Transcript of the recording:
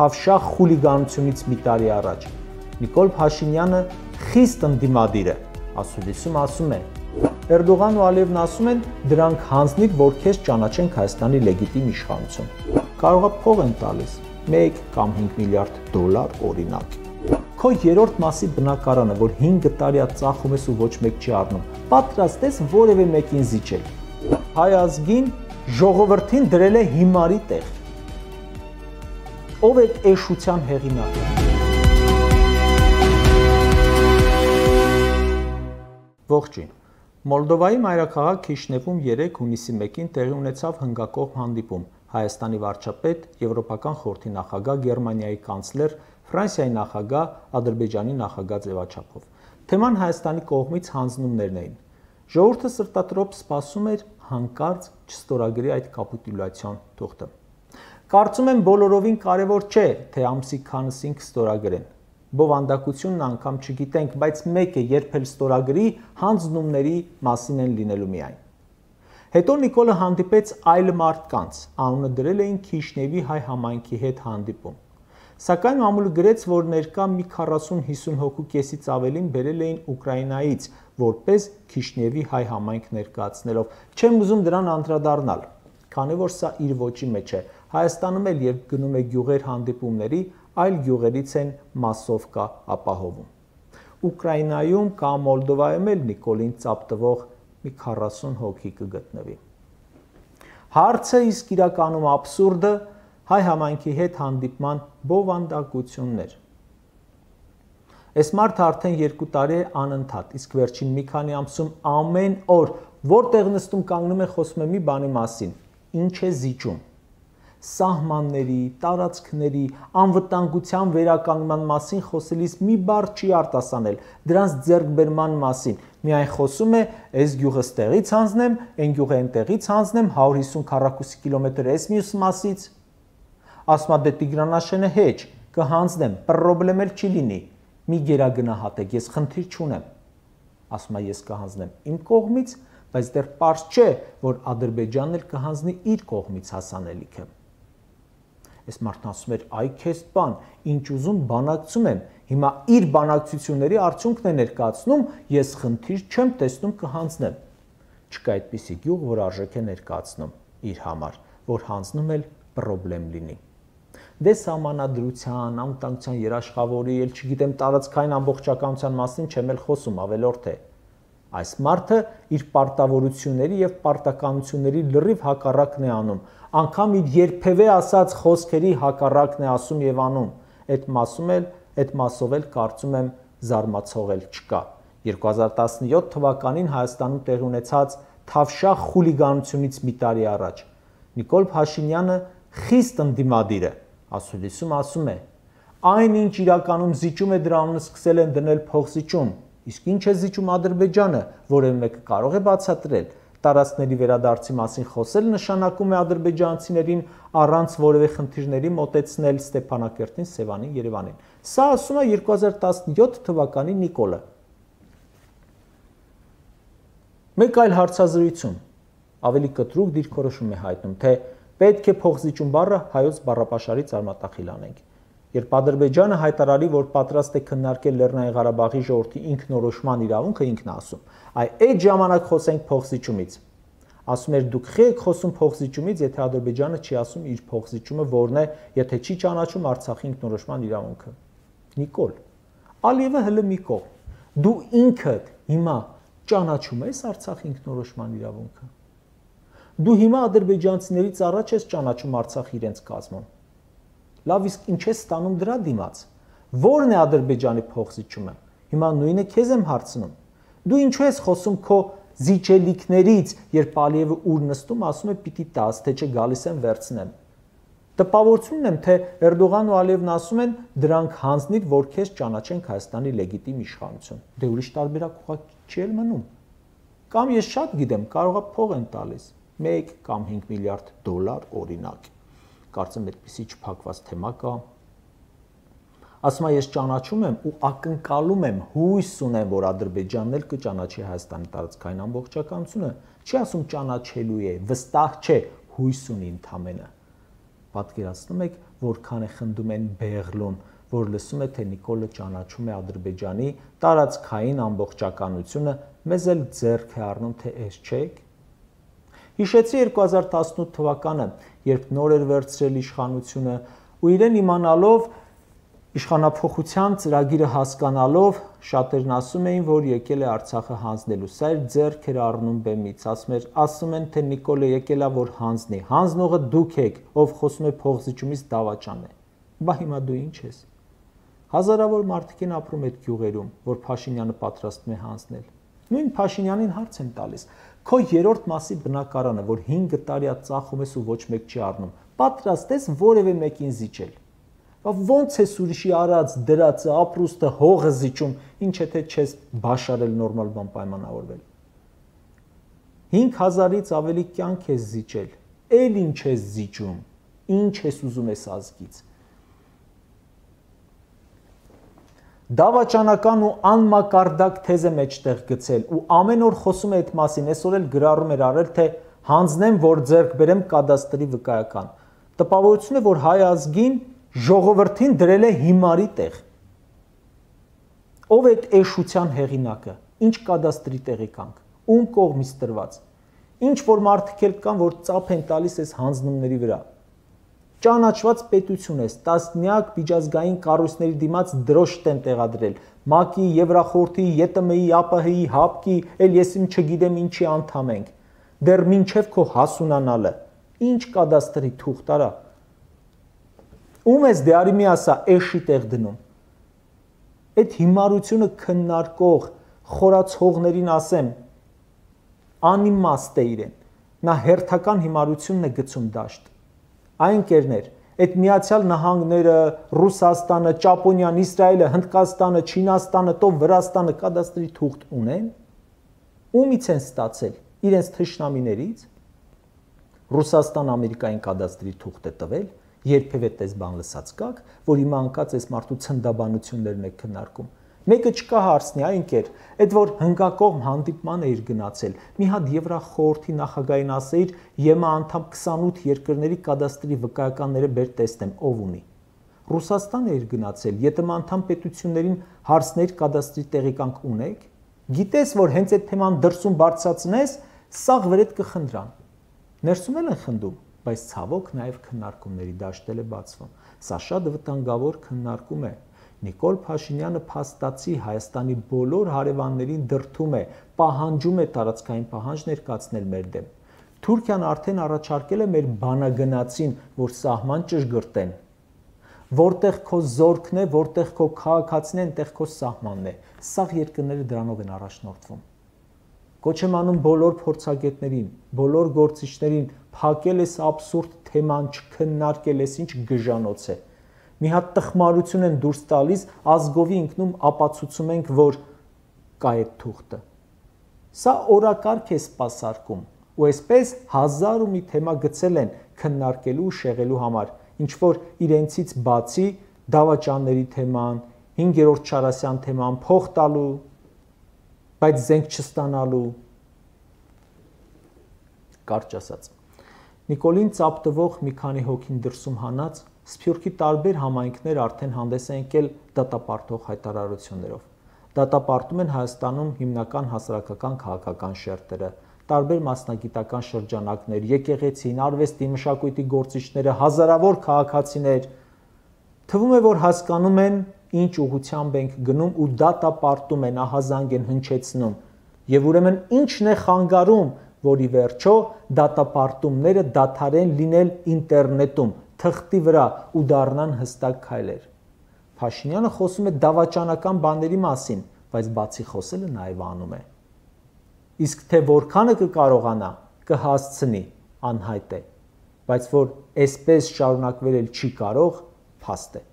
թավշյա խուլիգանությունից մի տարի առաջ։ Նիկոլ Փաշինյանը խիստ ընդդիմադիր է, ասուլիսում ասում է. Էրդողանն ու Ալիևն ասում են, դրանք հանձնիր, որ քեզ ճանաչենք Հայաստանի լեգիտիմ իշխանություն։ Կարող է փող են տալիս, 1 կամ 5 միլիարդ դոլար օրինակ։ Քո երրորդ մասի բնակարանը, որ 5 տարի է ծախում ես ու ոչ մեկ չի առնում, պատրաստ ես որևէ մեկին զիջել։ Հայ ազգին ժողովրդին դրել է հիմարի տեղ։ Ով է էշության հեղինակը։ Ողջույն։ Մոլդովայի մայրաքաղաք Քիշնևում 3 հունիսի 1-ին տեղի ունեցավ հնգակողմ հանդիպում Հայաստանի վարչապետ, Եվրոպական խորհրդի նախագահ, Գերմանիայի կանցլեր, Ֆրանսիայի նախագահ, Ադրբեջանի նախագահ ձևաչափով։ Թեման Հայաստանի կողմից հանձնումներն էին։ Ժողովուրդը սրտատրոփ սպասում էր հանկարծ չստորագրի այդ կապիտուլյացիոն թուղթը։ Կարծում եմ բոլորովին կարևոր չէ, թե ամսի քանիսին կստորագրեն։ Բովանդակությունն անգամ չգիտենք, բայց մեկը երբ էլ ստորագրի, հանձնումների մասին են լինելու միայն։ Հետո Նիկոլը հանդիպեց այլ մարդկանց, անունը դրել էին Քիշնևի հայ համայնքի հետ հանդիպում։ Սակայն մամուլը գրեց, որ ներկա մի 40-50 հոգու կեսից ավելին բերել էին Ուկրաինայից, որպես Քիշնևի հայ համայնք ներկայացնելով։ Չեմ ուզում դրան անդրադառնալ, քանի որ սա իր ոճի մեջ է։ Հայաստանում էլ երբ գնում է գյուղեր հանդիպումների, այլ գյուղերից են մասովկա ապահովում։ Ուկրաինայում կամ Մոլդովայում էլ Նիկոլին ծափ տվող մի 40 հոգի կգտնվի։ Հարցը իսկ իրականում աբսուրդը հայ համայնքի հետ հանդիպման բովանդակությունն էր։ Այս մարդը արդեն 2 տարի է անընդհատ, իսկ վերջին մի քանի ամսում ամեն օր որտեղ նստում կանգնում է խոսում է մի բանի մասին, ինչ է զիջում։ Սահմանների, տարածքների, անվտանգության վերականգնման մասին խոսելիս մի բառ չի արտասանել, դրանց ձեռքբերման մասին։ Միայն խոսում է, այս գյուղը ստեղից հանձնեմ, այն գյուղը այնտեղից հանձնեմ, 150 քառակուսի կիլոմետր էս մյուս մասից։ Ասում է դե Տիգրանաշենը հեչ, կհանձնեմ, պրոբլեմ էլ չի լինի։ Մի գերագնահատեք, ես խնդիր չունեմ։ Ասում է ես կհանձնեմ իմ կողմից, բայց դեռ պարզ չէ, որ Ադրբեջանն էլ կհանձնի իր կողմից հասանելիքը։ Այս մարդն ասում էր, այ քեզ բան, ինչ ուզում բանակցում եմ, հիմա իր բանակցությունների արդյունքն է ներկայացնում, ես խնդիր չեմ տեսնում կհանձնեմ։ Չկա այդպիսի գյուղ, որ արժեք է ներկայացնում իր համար, որ հանձնում էլ պրոբլեմ լինի։ Դե սահմանադրության, անվտանգության երաշխավորի, էլ չգիտեմ տարածքային ամբողջականության մասին չեմ էլ խոսում, ավելորդ է։ Այս մարդը իր պարտավորությունների եւ պարտականությունների լրիվ հակառակն է անում, անգամ իր երբևէ ասած խոսքերի հակառակն է ասում եւ անում։ Այդ մասով էլ կարծում եմ զարմացող էլ չկա։ 2017 թվականին Հայաստանում տեղի ունեցած թավշյա խուլիգանությունից մի տարի առաջ Նիկոլ Փաշինյանը խիստ ընդդիմադիր է, ասուլիսում ասում է. այն ինչ իրականում զիջում է դրա անունը սկսել են դնել փողզիջում, իսկ ինչ է զիջում Ադրբեջանը, որևէ մեկը կարող է բացատրել։ Տարածքների վերադարձի մասին խոսել նշանակում է ադրբեջանցիներին առանց որևէ խնդիրների մոտեցնել Ստեփանակերտին, Սևանին, Երևանին։ Սա ասում է 2017 թվականի Նիկոլը։ Մեկ այլ հարցազրույցում ավելի կտրուկ դիրքորոշում է հայտնում, թե պետք է փողզիջում բառը հայոց բառապաշարից արմատախիլ անենք։ Երբ Ադրբեջանը հայտարարի, որ պատրաստ է քննարկել Լեռնային Ղարաբաղի ժողովրդի ինքնորոշման իրավունքը, ինքն ասում, այդ ժամանակ խոսենք փողզիջումից։ Ասում էր դուք խի եք խոսում փողզիջումից, եթե Ադրբեջանը չի ասում իր փողզիջումը որն է, եթե չի ճանաչում Արցախի ինքնորոշման իրավունքը։ Նիկոլ, Ալիևը հələ մի կողմ։ Դու ինքդ հիմա ճանաչում ես Արցախի ինքնորոշման իրավունքը։ Դու հիմա ադրբեջանցիներից առաջ ես ճանաչում Արցախի իրենց կազմում։ Լավ, իսկ ինչ է ստանում դրա դիմաց։ Որն է Ադրբեջանի փողզիջումը։ Հիմա նույնը քեզ եմ հարցնում։ Դու ինչու ես խոսում քո զիջելիքներից, երբ Ալիևը ուր նստում, ասում է պիտի տաս, թե չէ գալիս եմ վերցնեմ։ Տպավորությունն եմ, թե Էրդողանն ու Ալիևն ասում են դրանք հանձնիր, որ քեզ ճանաչենք Հայաստանի լեգիտիմ իշխանություն։ Դե ուրիշ տարբերակ ուղղակի չի էլ մնում։ Կամ ես շատ գիտեմ, կարող է փող են տալիս, 1 կամ 5 միլիարդ դոլար օրինակ։ Կարծեմ այդպիսի չփակված թեմա կա։ Ասում եմ, ես ճանաչում եմ ու ակնկալում եմ, հույս ունեմ, որ Ադրբեջանն էլ կճանաչի Հայաստանի տարածքային ամբողջականությունը, չի ասում ճանաչելու է, վստահ չէ, հույս ունի ընդամենը։ Պատկերացնում եք, որքան է խնդում են Բեղլուն, որ լսում է, թե Նիկոլը ճանաչում է Ադրբեջանի տարածքային ամբողջականությունը, մեզ էլ ձեռք է առնում, թե էս չեք։ Հիշեցի 2018 թվականը, երբ նոր էր վերցրել իշխանությունը ու իրեն իմանալով իշխանափոխության ծրագիրը հասկանալով շատերն ասում էին, որ եկել է Արցախը հանձնելու, սա էր ձեռք էր առնում բեմից, ասում են, թե Նիկոլը եկել է, որ հանձնի, հանձնողը դուք եք, ով խոսում է փողզիջումից դավաճան է, բա հիմա դու ինչ ես։ Հազարավոր մարդիկ են ապրում այդ գյուղերում, որ Փաշինյանը պատրաստում է հանձնել։ Նույն Փաշինյանին հարց եմ տալիս, քո երրորդ մասի բնակարանը, որ 5 տարի է ծախում ես ու ոչ մեկ չի առնում, պատրաստ ես որևէ մեկին զիջել։ Ոնց է ուրիշի արած, դրածը, ապրուստը, հողը զիջում, ինչ եթե չես բաշարել նորմալ բան պայմանավորվել։ 5000-ից ավելի կյանք ես զիջել, էլ ինչ ես զիջում, ինչ ես ուզում ես ազգից։ Դավաճանական ու անմակարդակ թեզ է մեջտեղ գցել ու ամեն օր խոսում է այդ մասին, այսօր էլ գրառում էր արել, թե հանձնեմ, որ ձեռք բերեմ կադաստրի վկայական։ Տպավորություն է, որ հայ ազգին ժողովրդին դրել է հիմարի տեղ։ Ով է այդ էշության հեղինակը, ինչ կադաստրի տեղեկանք, ում կողմից տրված, ինչ որ մարդիկ էլ կան, որ ծափ են տալիս այս հանձնումների վրա։ Ճանաչված պետություն ես, տասնյակ միջազգային կառույցների դիմաց դրոշտ են տեղադրել, ՄԱԿ-ի, Եվրախորհրդի, ԵՏՄ-ի, ԱՊՀ-ի, ՀԱՊԿ-ի, էլ ես չգիտեմ ինչի անդամ ենք, դեռ մինչև քո հասունանալը, ինչ կադաստրի թուղթ արա։ Ում ես դե արի մի ասա, էշի տեղ դնում։ Այդ հիմարությունը քննարկող խորացողներին ասեմ, անիմաստ է իրեն, նա հերթական հիմարությունն է գցում դաշտ։ Այն ընկերներ, այդ Միացյալ Նահանգները, Ռուսաստանը, Ճապոնիան, Իսրայելը, Հնդկաստանը, Չինաստանը, տո Վրաստանը կադաստրի թուղթ ունեն, ումից են ստացել, իրենց թշնամիներից, Ռուսաստան Ամերիկային կադաստրի թուղթ է տվել, երբևէ տես բան լսած կաք, որ հիմա անկած այս մարդու ցնդաբանություններն է քննարկում։ Մեկը չկա հարցնի, այ ընկեր, այդ որ հնգակողմ հանդիպման էիր գնացել, մի հատ Եվրախորհրդի նախագահին ասեիր, ԵՄ անդամ 28 երկրների կադաստրի վկայականները բեր տեսնեմ, ով ունի։ Ռուսաստան էիր գնացել, ԵՏՄ անդամ պետություններին հարցներ կադաստրի տեղեկանք ունեք։ Գիտես, որ հենց այդ թեման դրսում բարձրացնես, սաղ վրեդ կխնդրան։ Ներսում էլ են խնդում, բայց ցավոք նաև քննարկումների դաշտել է բացվում։ Սա շատ վտանգավոր քննարկում է։ Նիկոլ Փաշինյանը փաստացի Հայաստանի բոլոր հարևաններին դրդում է, պահանջում է տարածքային պահանջ ներկայացնել մեր դեմ։ Թուրքիան արդեն առաջարկել է մեր բանագնացին, որ սահման ճշգրտեն։ Որտեղ քո զորքն է, որտեղ քո քաղաքացին է, այնտեղ քո սահմանն է։ Սաղ երկրները դրանով են առաջնորդվում։ Կոչ եմ անում բոլոր փորձագետներին, բոլոր գործիչներին, փակել ես աբսուրդ թեման, չքննարկել ես, ինչ գժանոց է։ Մի հատ տխմարություն են դուրս տալիս, ազգովի ինքնում ապացուցում ենք, որ կա այդ թուղթը։ Սա օրակարգ է սպասարկում, ու այսպես հազար ու մի թեմա գցել են քննարկելու ու շեղելու համար, ինչ որ իրենցից բացի դավաճանների թեման, 5-րդ Չարասյան թեման, փող տալու, բայց զենք չստանալու, կարճ ասած։ Նիկոլին ծապտվող մի քանի հոգին դրսում հանած, Սփյուռքի տարբեր համայնքներ արդեն հանդես են եկել դատապարտող հայտարարություններով։ Դատապարտում են Հայաստանում հիմնական հասարակական քաղաքական շերտերը, տարբեր մասնագիտական շրջանակներ, եկեղեցին, արվեստի, մշակույթի գործիչները, հազարավոր քաղաքացիներ։ Թվում է, որ հասկանում են, ինչ ուղղությամբ ենք գնում ու դատապարտում են, ահազանգ են հնչեցնում։ Եվ ուրեմն ինչն է խանգարում, որ ի վերջո դատապարտումները դադարեն լինել ինտերնետում, թղթի վրա ու դառնան հստակ քայլեր։ Փաշինյանը խոսում է դավաճանական բաների մասին, բայց բացի խոսելը նաև անում է։ Իսկ թե որքանը կկարողանա, կհասցնի, անհայտ է, բայց որ այսպես շարունակվել չի կարող, փաստ է։